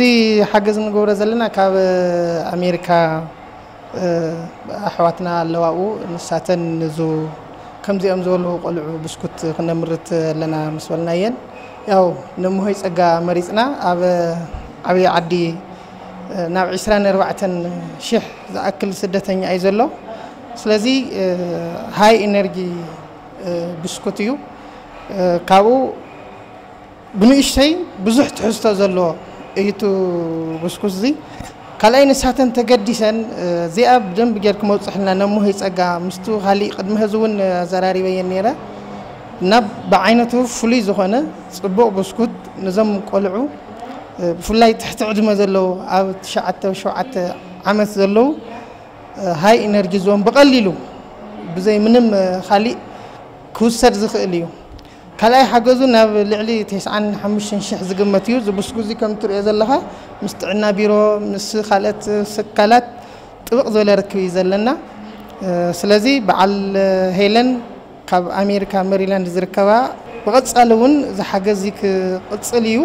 እዚ ሓገዝ ንገብሮ ዘለና ካብ ኣሜሪካ ኣሕዋትና ኣለዋኡ ንሳተን ንዙ ከምዚኦም ዝበሉ ቆልዑ ብስኩት ክነምርት ኣለና ምስ በልናየን ያው ነምሆይ ፀጋ መሪፅና ኣብ ዓብይ ዓዲ ናብ ዕስራን ኣርባዕተን ሽሕ ዝኣክል ስደተኛ እዩ ዘሎ። ስለዚ ሃይ ኢነርጂ ብስኩት እዩ። ካብኡ ብንእሽተይ ብዙሕ ትሕዝቶ ዘለዎ እዩ እቲ ብስኩት እዚ። ካልኣይ ንሳተን ተገዲሰን እዚኣ ብደንብ ጌርክ መውፅሕልና ነሞህ ይፀጋ ምስቱ ካሊእ ቅድሚ ህዚ እውን ኣዘራሪበየን ነይረ እና ብዓይነቱ ፍሉይ ዝኾነ ፅቡቕ ብስኩት ንዞም ቆልዑ ብፍላይ ትሕቲ ዕድመ ዘለዉ ኣብ ትሽዓተ ሸውዓተ ዓመት ዘለዉ ሃይ ኢነርጂ ዞን ብቐሊሉ ብዘይ ምንም ካሊእ ክውሰድ ዝኽእል እዩ። ካልኣይ ሓገዙ ናብ ልዕሊ ተስዓን ሓሙሽተን ሽሕ ዝግመት እዩ። እዚ ብስኩዚ ከም ትሪኦ ዘለኻ ምስ ጥዕና ቢሮ ምስ ካልኦት ስካላት ጥብቕ ዝበለ ርክብ እዩ ዘለና። ስለዚ በዓል ሄለን ካብ ኣሜሪካ ሜሪላንድ ዝርከባ ብቐጻሊ እውን እዚ ሓገዝ እዚ ክቕጽል እዩ።